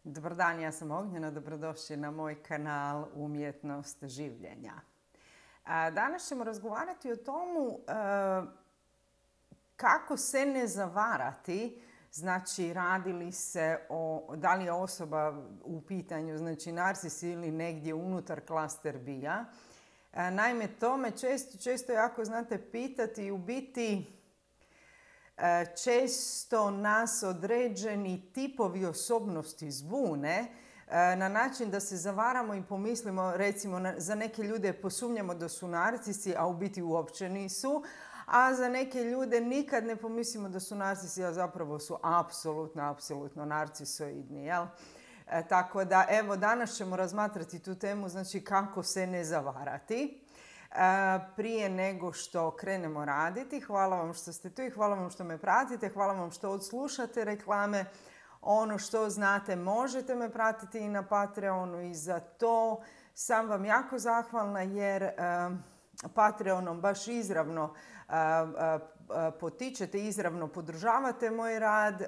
Dobar dan, ja sam Ognjena, dobrodošli na moj kanal Umjetnost življenja. Danas ćemo razgovarati o tomu kako se ne zavarati, znači radi li se da li je osoba u pitanju, znači narcis ili negdje unutar klaster B-a. Naime, to me često jako znate pitati i u biti često nas određeni tipovi osobnosti zbune na način da se zavaramo i pomislimo, recimo za neke ljude posumnjamo da su narcisi, a u biti uopće nisu, a za neke ljude nikad ne pomislimo da su narcisi, a zapravo su apsolutno narcisoidni. Jel? Tako da, evo, danas ćemo razmatrati tu temu, znači kako se ne zavarati. Prije nego što krenemo raditi, hvala vam što ste tu i hvala vam što me pratite, hvala vam što odslušate reklame. Ono što znate, možete me pratiti i na Patreonu i za to sam vam jako zahvalna jer Patreonom baš izravno potičete, izravno podržavate moj rad,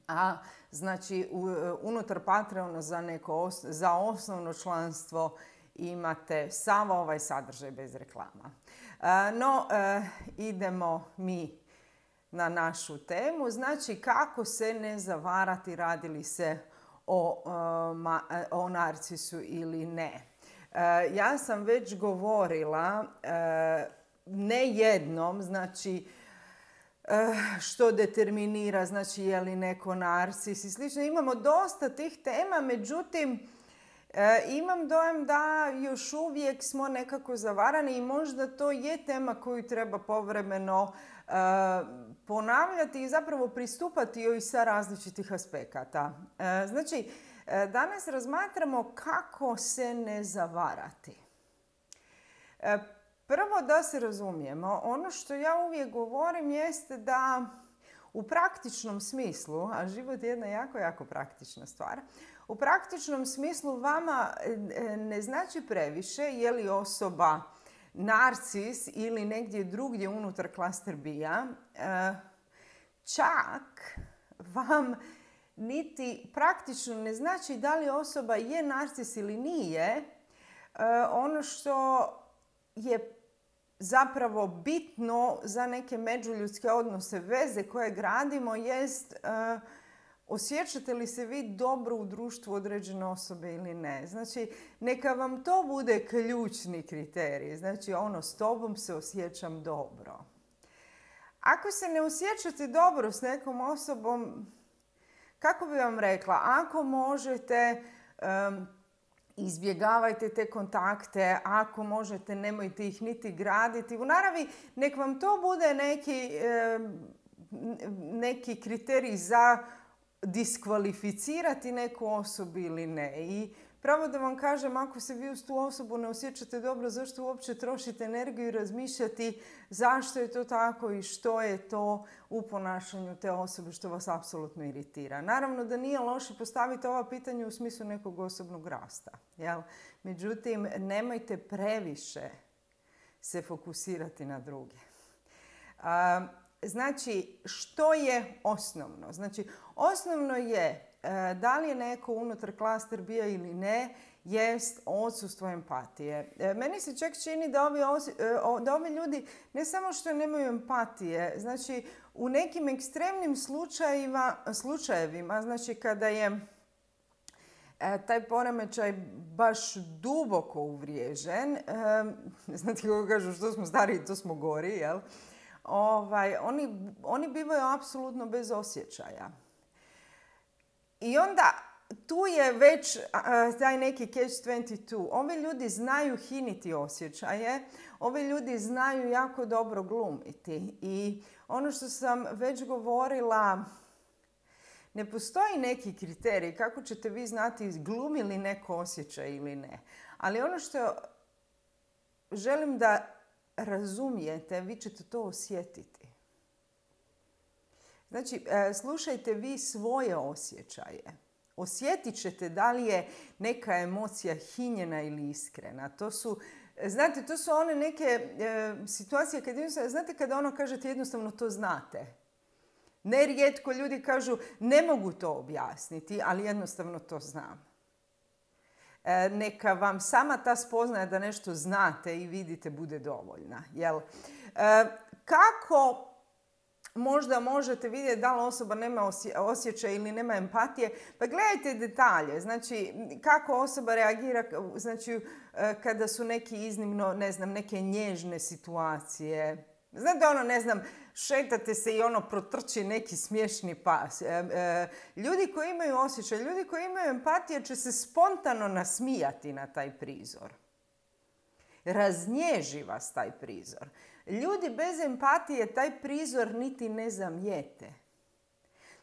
a znači unutar Patreona za osnovno članstvo imate sav ovaj sadržaj bez reklama. No, idemo mi na našu temu. Znači, kako se ne zavarati, radi li se o narcisu ili ne. Ja sam već govorila ne jednom, znači, što determinira, znači, je li neko narcis i slično. Imamo dosta tih tema, međutim, imam dojam da još uvijek smo nekako zavarani i možda to je tema koju treba povremeno ponavljati i zapravo pristupati joj sa različitih aspekata. Znači, danas razmatramo kako se ne zavarati. Prvo da se razumijemo, ono što ja uvijek govorim jeste da u praktičnom smislu, a život je jedna jako praktična stvar, u praktičnom smislu vama ne znači previše je li osoba narcis ili negdje drugdje unutar klaster B-a. Čak vam niti praktično ne znači da li osoba je narcis ili nije. Ono što je zapravo bitno za neke međuljudske odnose, veze koje gradimo jest osjećate li se vi dobro u društvu određene osobe ili ne. Znači, neka vam to bude ključni kriterij. Znači, s tobom se osjećam dobro. Ako se ne osjećate dobro s nekom osobom, kako bi vam rekla, ako možete, izbjegavajte te kontakte, ako možete, nemojte ih niti graditi. U naravi, nek vam to bude neki kriterij za diskvalificirati neku osobu ili ne. I pravo da vam kažem, ako se vi uz tu osobu ne osjećate dobro, zašto uopće trošite energiju i razmišljati zašto je to tako i što je to u ponašanju te osobe što vas apsolutno iritira. Naravno da nije loše postaviti ova pitanja u smislu nekog osobnog rasta. Jel? Međutim, nemojte previše se fokusirati na druge. Znači, što je osnovno? Znači, osnovno je da li je neko unutar klaster B-a ili ne, jest odsustvo empatije. Meni se čak čini da ovi ljudi ne samo što nemaju empatije, znači u nekim ekstremnim slučajevima, znači kada je taj poremećaj baš duboko uvriježen, znate kako kažu, što smo stariji, to smo gori, jel? Oni bivaju apsolutno bez osjećaja. I onda tu je već taj neki catch-22. Ovi ljudi znaju hiniti osjećaje, ovi ljudi znaju jako dobro glumiti. I ono što sam već govorila, ne postoji neki kriterij kako ćete vi znati glumi li neko osjećaj ili ne. Ali ono što želim da razumijete, vi ćete to osjetiti. Znači, slušajte vi svoje osjećaje. Osjetit ćete da li je neka emocija hinjena ili iskrena. To su one neke situacije, znate kada kažete jednostavno to znate. Nerijetko ljudi kažu ne mogu to objasniti, ali jednostavno to znam. Neka vam sama ta spoznaja da nešto znate i vidite bude dovoljna. Jel? Kako možda možete vidjeti da li osoba nema osjećaj ili nema empatije? Pa gledajte detalje. Znači, kako osoba reagira, znači, kada su neki iznimno, ne znam, neke nježne situacije. Znate, šetate se i protrči neki smiješni pas. Ljudi koji imaju osjećaj, ljudi koji imaju empatije će se spontano nasmijati na taj prizor. Raznježi vas taj prizor. Ljudi bez empatije taj prizor niti ne zamijete.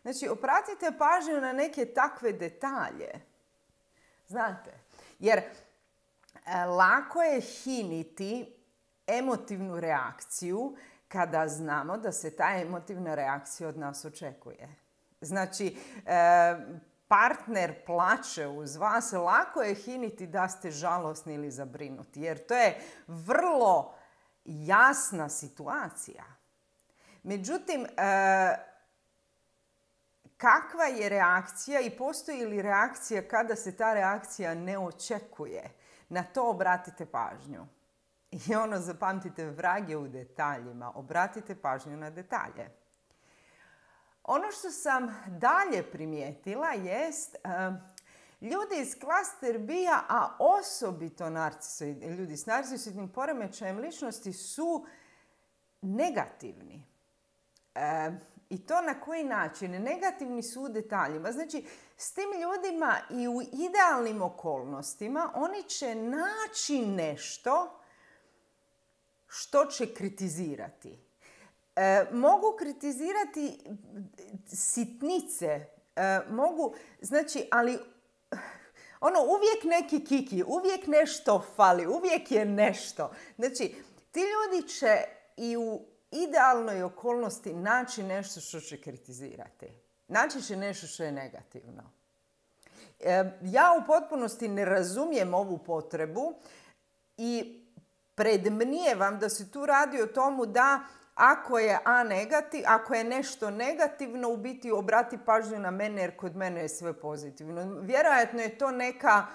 Znači, obratite pažnju na neke takve detalje. Znate, jer lako je hiniti emotivnu reakciju kada znamo da se ta emotivna reakcija od nas očekuje. Znači, partner plače uz vas, lako je hiniti da ste žalosni ili zabrinuti, jer to je vrlo jasna situacija. Međutim, kakva je reakcija i postoji li reakcija kada se ta reakcija ne očekuje? Na to obratite pažnju. I zapamtite, vrag je u detaljima. Obratite pažnju na detalje. Ono što sam dalje primijetila jest ljudi iz klaster B-a, a osobito ljudi s narcisoidnim poremećajem ličnosti su negativni. I to na koji način? Negativni su u detaljima. Znači, s tim ljudima i u idealnim okolnostima oni će naći nešto što će kritizirati. Mogu kritizirati sitnice, ali uvijek neki kiki, uvijek nešto fali, uvijek je nešto. Znači, ti ljudi će i u idealnoj okolnosti naći nešto što će kritizirati. Naći će nešto što je negativno. Ja u potpunosti ne razumijem ovu potrebu i predmnijevam da se tu radi o tomu da ako je nešto negativno, u biti obrati pažnju na mene jer kod mene je sve pozitivno. Vjerojatno je to neka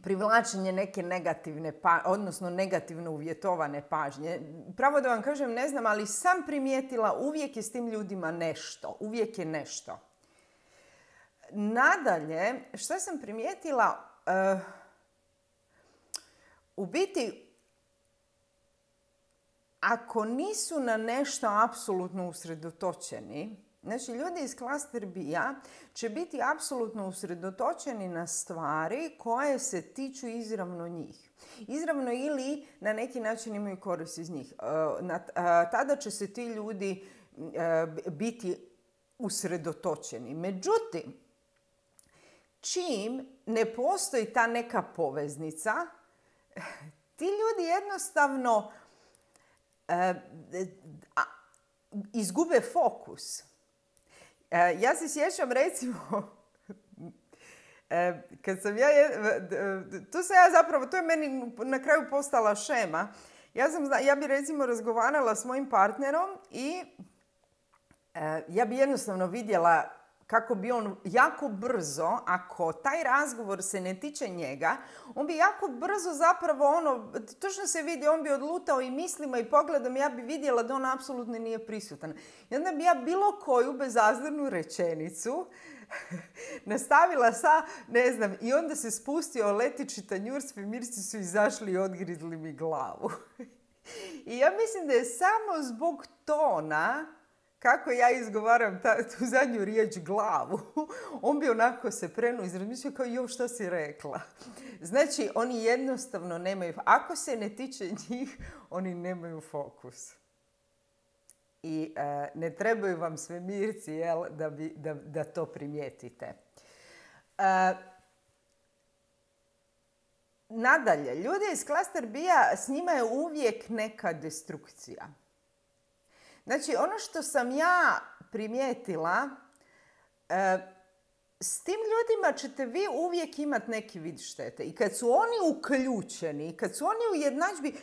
privlačenje neke negativne, odnosno negativno uvjetovane pažnje. Pravo da vam kažem, ne znam, ali sam primijetila uvijek je s tim ljudima nešto. Uvijek je nešto. Nadalje, što sam primijetila, u biti, ako nisu na nešto apsolutno usredotočeni, znači ljudi iz klaster B-a će biti apsolutno usredotočeni na stvari koje se tiču izravno njih. Izravno ili na neki način imaju korist iz njih. Tada će se ti ljudi biti usredotočeni. Međutim, čim ne postoji ta neka poveznica, ti ljudi jednostavno izgube fokus. Ja se sjećam recimo, kad sam to je meni na kraju postala šema. Ja bi recimo razgovarala s mojim partnerom i ja bi jednostavno vidjela kako bi on jako brzo, ako taj razgovor se ne tiče njega, on bi jako brzo zapravo točno se vidi, on bi odlutao i mislima i pogledom, ja bi vidjela da on apsolutno nije prisutan. I onda bi ja bilo koju bezazlenu rečenicu nastavila i onda se spustio letići tanjur, svemirci su izašli i odgrizli mi glavu. I ja mislim da je samo zbog tona, kako ja izgovaram tu zadnju riječ glavu, on bi onako se prenuo i razmišljao kao što si rekla. Znači, oni jednostavno nemaju, ako se ne tiče njih, oni nemaju fokus. I ne trebaju vam svemirci, da to primijetite. Nadalje, ljudi iz klaster B-a, s njima je uvijek neka destrukcija. Znači, ono što sam ja primijetila, s tim ljudima ćete vi uvijek imati neki vid štete. I kad su oni uključeni, kad su oni u jednadžbi,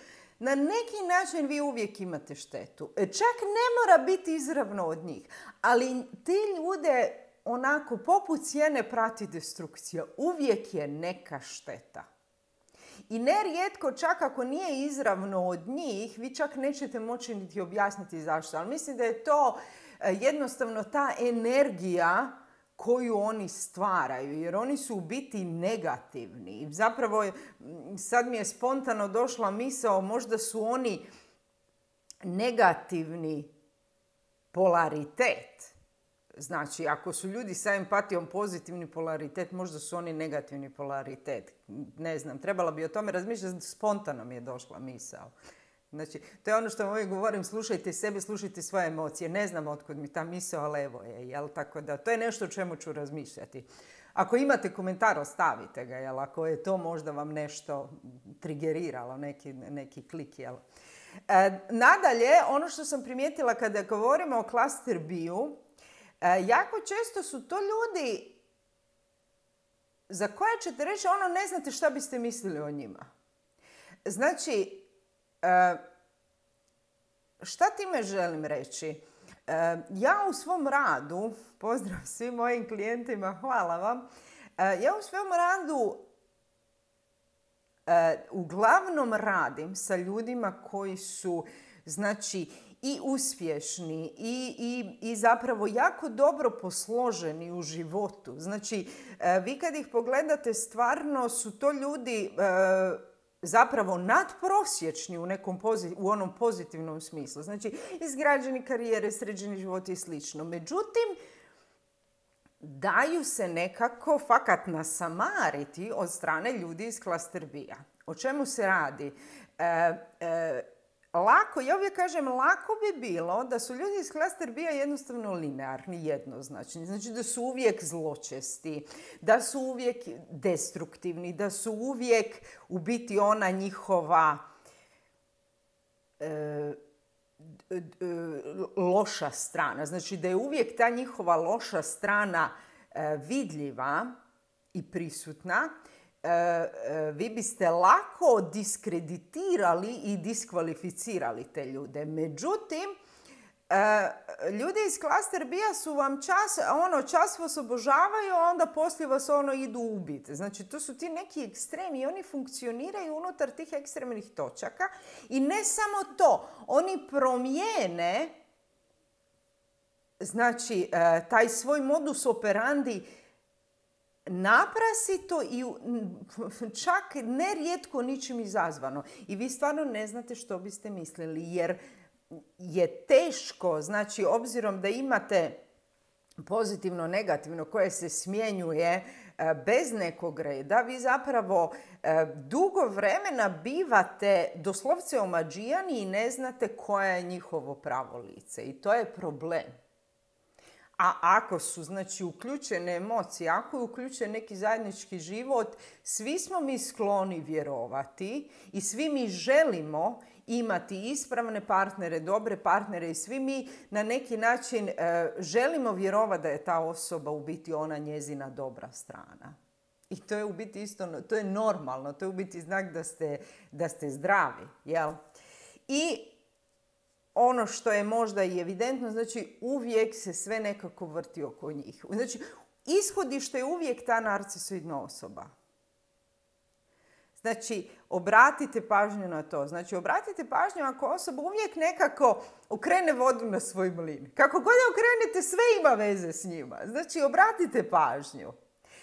na neki način vi uvijek imate štetu. Čak ne mora biti izravno od njih, ali ti ljude onako poput sjene prati destrukcija. Uvijek je neka šteta. I nerijetko, čak ako nije izravno od njih, vi čak nećete moći niti objasniti zašto. Ali mislim da je to jednostavno ta energija koju oni stvaraju, jer oni su u biti negativni. Zapravo, sad mi je spontano došla misao, možda su oni negativni polaritet. Znači, ako su ljudi sa empatijom pozitivni polaritet, možda su oni negativni polaritet. Ne znam, trebala bi o tome razmišljati, spontano mi je došla misao. Znači, to je ono što uvijek govorim, slušajte sebe, slušajte svoje emocije. Ne znam otkud mi ta misao, ali evo je, jel? Tako da, to je nešto o čemu ću razmišljati. Ako imate komentar, ostavite ga, jel? Ako je to možda vam nešto trigeriralo, neki klik, jel? Nadalje, ono što sam primijetila kada govorimo o cluster B-u, jako često su to ljudi za koje ćete reći, ne znate šta biste mislili o njima. Znači, šta time želim reći? Ja u svom radu, pozdrav svim mojim klijentima, hvala vam, ja u svom radu uglavnom radim sa ljudima koji su, znači, i uspješni i zapravo jako dobro posloženi u životu. Znači, vi kad ih pogledate, stvarno su to ljudi zapravo nadprosječni u onom pozitivnom smislu. Znači, izgrađeni karijere, sređeni životi i slično. Međutim, daju se nekako fakat nasamariti od strane ljudi iz cluster B-a. O čemu se radi? Ja uvijek kažem, lako bi bilo da su ljudi iz cluster B-a jednostavno linearni, jednoznačni. Znači da su uvijek zločesti, da su uvijek destruktivni, da su uvijek u biti ona njihova loša strana. Znači da je uvijek ta njihova loša strana vidljiva i prisutna. Vi biste lako diskreditirali i diskvalificirali te ljude. Međutim, ljudi iz cluster B-a su vam čas vas obožavaju, a onda poslije vas idu ubiti. Znači, to su ti neki ekstremi i oni funkcioniraju unutar tih ekstremnih točaka. I ne samo to, oni promijene, znači, taj svoj modus operandi naprasito i čak nerijetko ničim izazvano. I vi stvarno ne znate što biste mislili, jer je teško, znači, obzirom da imate pozitivno, negativno, koje se smjenjuje bez nekog reda, vi zapravo dugo vremena bivate doslovce omađijani i ne znate koje je njihovo pravo lice. I to je problem. A ako su, znači, uključene emocije, ako je uključen neki zajednički život, svi smo mi skloni vjerovati i svi mi želimo imati ispravne partnere, dobre partnere i svi mi na neki način želimo vjerovati da je ta osoba u biti ona njezina dobra strana. I to je u biti isto, to je normalno, to je u biti znak da ste zdravi, jel? I ono što je možda i evidentno, znači uvijek se sve nekako vrti oko njih. Znači, ishodište je uvijek ta narcisoidna osoba. Znači, obratite pažnju na to. Znači, obratite pažnju ako osoba uvijek nekako okrene vodu na svoj mlin. Kako god je okrenete, sve ima veze s njima. Znači, obratite pažnju.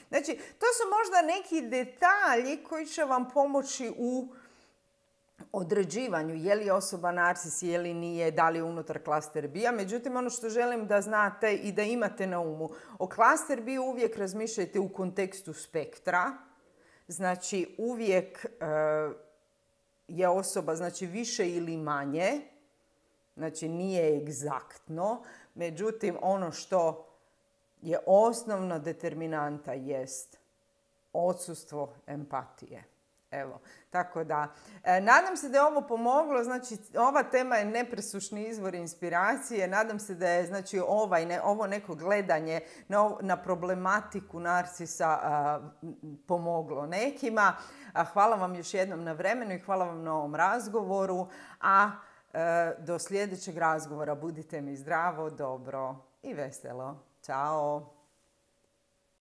Znači, to su možda neki detalji koji će vam pomoći u određivanju je li osoba narcis, je li nije, da li je unutar cluster B-a. Međutim, ono što želim da znate i da imate na umu, o cluster B uvijek razmišljajte u kontekstu spektra. Znači, uvijek je osoba, znači, više ili manje. Znači, nije egzaktno. Međutim, ono što je osnovna determinanta jest odsustvo empatije. Evo, tako da, nadam se da je ovo pomoglo, znači ova tema je nepresušni izvor inspiracije, nadam se da je znači ovo neko gledanje na problematiku narsisa pomoglo nekima. Hvala vam još jednom na vremenu i hvala vam na ovom razgovoru, a do sljedećeg razgovora budite mi zdravo, dobro i veselo. Ćao!